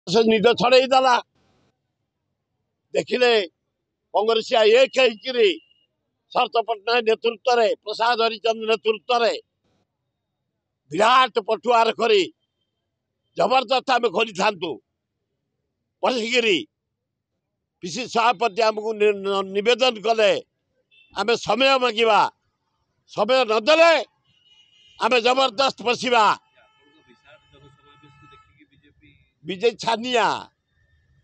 ସେ ନିଦ ଛଡ଼େଇ ଦେଲା। ଦେଖିଲେ କଂଗ୍ରେସିଆ ଏକ ହେଇକିରି ଶରତ ପଟ୍ଟନାୟକ ନେତୃତ୍ୱରେ, ପ୍ରସାଦ ହରିଚନ୍ଦ ନେତୃତ୍ୱରେ ବିରାଟ ପଟୁଆର କରି ଜବରଦସ୍ତ ଆମେ ଖୋଲିଥାନ୍ତୁ ପଶିକିରି। ପିସି ସଭାପତି ଆମକୁ ନିବେଦନ କଲେ, ଆମେ ସମୟ ମାଗିବା, ସମୟ ନଦେଲେ ଆମେ ଜବରଦସ୍ତ ପଶିବା। ବିଜେପି ଛାନିଆ,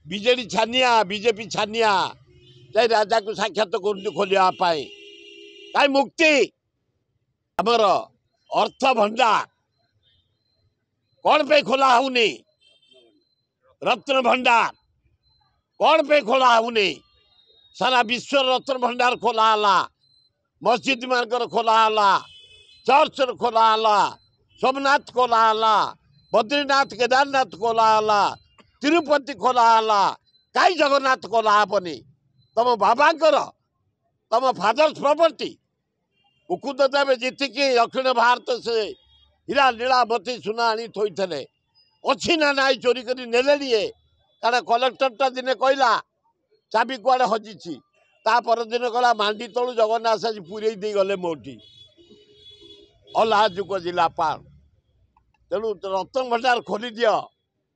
ବିଜେଡି ଛାନିଆ, ବିଜେପି ଛାନିଆ, ଯାଇ ରାଜାକୁ ସାକ୍ଷାତ କରୁଛୁ ଖୋଲିବା ପାଇଁ। କାହିଁ ମୁକ୍ତି? ଆମର ଅର୍ଥ ଭଣ୍ଡାର କ'ଣ ପାଇଁ ଖୋଲା ହଉନି? ରତ୍ନ ଭଣ୍ଡାର କ'ଣ ପାଇଁ ଖୋଲା ହଉନି? ସାରା ବିଶ୍ୱର ରତ୍ନ ଭଣ୍ଡାର ଖୋଲା ହେଲା, ମସଜିଦ ମାନଙ୍କର ଖୋଲା ହେଲା, ଚର୍ଚ୍ଚର ଖୋଲା ହେଲା, ସୋମନାଥ ଖୋଲା ହେଲା, ବଦ୍ରିନାଥ କେଦାରନାଥ ଖୋଲା ହେଲା, ତିରୁପତି ଖୋଲା ହେଲା, କାହିଁ ଜଗନ୍ନାଥ ଖୋଲା ହବନି? ତମ ବାବାଙ୍କର, ତମ ଫାଦର୍ସ ପ୍ରପର୍ଟି। ମୁକୁନ୍ଦ ଦେବ ଯେତିକି ଦକ୍ଷିଣ ଭାରତ ସେ ହୀରା ନୀଳା ମୋତି ସୁନା ଆଣି ଥୋଇଥିଲେ, ଅଛି ନା ନାଇଁ? ଚୋରି କରି ନେଲେଣି ଏ। କାରଣ କଲେକ୍ଟରଟା ଦିନେ କହିଲା ଚାବି କୁଆଡ଼େ ହଜିଛି, ତା ପରଦିନ କହିଲା ମାଣ୍ଡି ତଳୁ ଜଗନ୍ନାଥ ଆଜି ପୁରେଇ ଦେଇଗଲେ ମୋଠି। ଅଲାଜୁକ ଜିଲ୍ଲାପାଳ। ତେଣୁ ରତ୍ନ ଭଣ୍ଡାର ଖୋଲିଦିଅ।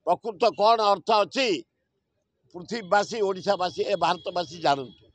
ପ୍ରକୃତ କ'ଣ ଅର୍ଥ ଅଛି ପୃଥିବୀବାସୀ, ଓଡ଼ିଶାବାସୀ, ଏ ଭାରତବାସୀ ଜାଣନ୍ତୁ।